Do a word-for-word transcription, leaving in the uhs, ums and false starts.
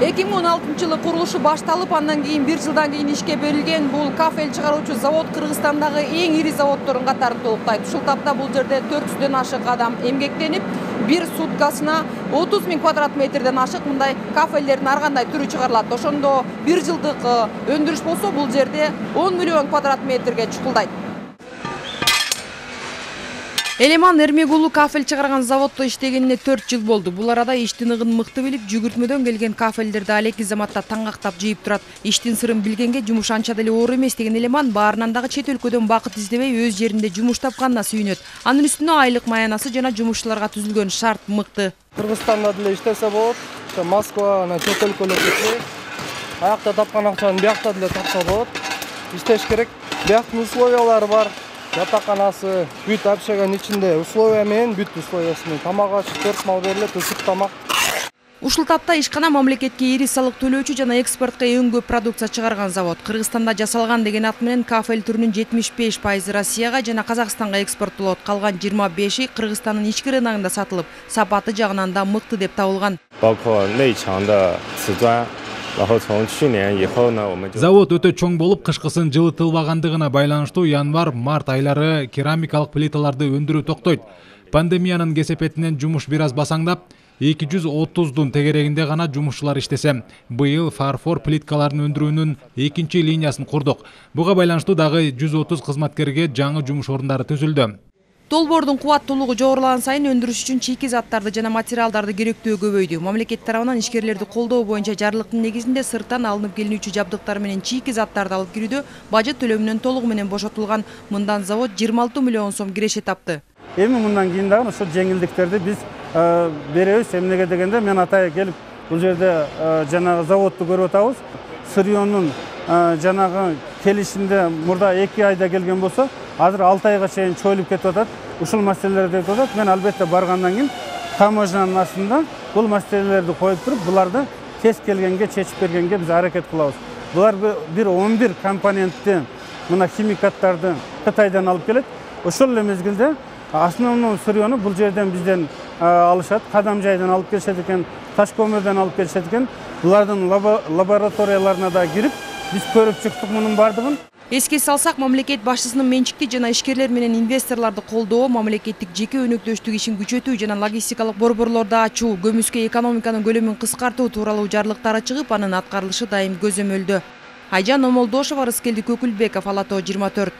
эки миң он алтынчы жылы курулушу башталып, андан кийин бир жылдан кийин ишке берилген бул кафель чыгаруучу завод Кыргызстандагы эң ири заводдордун катарын толуктайт. Ушул тапта бул жерде төрт жүздөн ашык адам эмгектенип, бир суткасына отуз миң квадрат метрден ашык мындай кафелдердин ар кандай түрү чыгарылат. Ошондо бир жылдык өндүрүш болсо, бул жерде он миллион квадрат метрге чукулдайт. Элеман Эрмек уулу кафель чыгарган заводдо иштегенине төрт жыл болду. Бул арада иштин ыгын мыкты билип, жүгүртмөдөн келген кафелдерди алеки заматта таңактап жыйып турат. Иштин сырын билгенге жумуш анча деле оор эмес деген Элеман баарынан дагы чет өлкөдөн бакыт издебей өз жеринде жумуш тапканына сүйүнөт. Анын үстүнө айлык маянасы жана жумушчуларга түзүлгөн шарт мыкты. Кыргызстанда деле иштесе болот. Москва, ана чет өлкөлөр кетсе, аякта тапкан акчаны биякта деле тапса болот. Иштеш керек. Бияктын условиялары бар. Жатаканасы, бүт общаганын ичинде условия менен, бүт условиясы менен тамак аш төрт мал берилет, ысык тамак. Ушул тапта ишкана мамлекетке ири салык төлөөчү жана экспортко эң көп продукция чыгарган завод. Кыргызстанда жасалган деген ат менен кафель түрүнүн жетимиш беш пайызы Россияга жана Казакстанга экспорттолот. Калган жыйырма беши Кыргызстандын ички рыногунда сатылып, сапаты жагынан да мыкты деп табылган. Завод өтө чоң болуп, кышкысын жылытылбагандыгына байланыштуу январь-март айлары керамикалык плиталарды өндүрүү токтойт. Пандемиянын кесепетинен жумуш бир аз басаңдап, эки жүз отуздун тегерегинде гана жумушчулар иштесе. Быйыл фарфор плиткаларын өндүрүүнүн экинчи линиясын курдук. Буга байланыштуу дагы жүз отуз кызматкерге жаңы жумуш орундары түзүлдү. Долбоордун кубаттуулугу жогорулаган сайын өндүрүш үчүн чийки заттарды жана материалдарды керектөө көбөйдү. Мамлекет тарабынан ишкерлерди колдоо боюнча жарлыктын негизинде сырттан алынып келүүчү жабдыктар менен чийки заттарды алып кирүүдө бажет төлөмүнөн толугу менен бошотулган. Мындан завод жыйырма алты миллион сом киреше тапты. Эми мындан кийин дагы ошол жеңилдиктерди биз беребиз. Эмнеге дегенде мен атайын келип бул жерде жанагы заводду көрүп атабыз. Сырьёнун жанагы келишинде мурда эки айда келген болсо, азыр алты айга чейин чоюлуп кетип атат. Ушул маселелерди айтып атат. Мен албетте баргандан кийин таможнянын астында бул маселелерди коюп туруп, буларды тез келгенге чечип бергенге биз аракет кылабыз. Булар бир он бир компонентти, мына химикаттарды Кытайдан алып келет. Ошол эле мезгилде основной сырьёну бул жерден бизден алышат, кадам жайдан алып келишет экен, таш көмүрдөн алып келишет экен. Булардын лабораторияларына да кирип, биз көрүп чыктык мунун бардыгын. Эске салсак, мамлекет башчысынын менчикти жана ишкерлер менен инвесторлорду колдоо, мамлекеттик жеке өнөктөштүк ишин күчөтүү жана логистикалык борборлорду ачуу, көмүскө экономиканын көлөмүн кыскартуу тууралуу жарлыктары чыгып, анын аткарылышы дайым көзөмөлдө. Айжан Омолдошова, Рыскелди Көкүлбеков, Ала Тоо жыйырма төрт.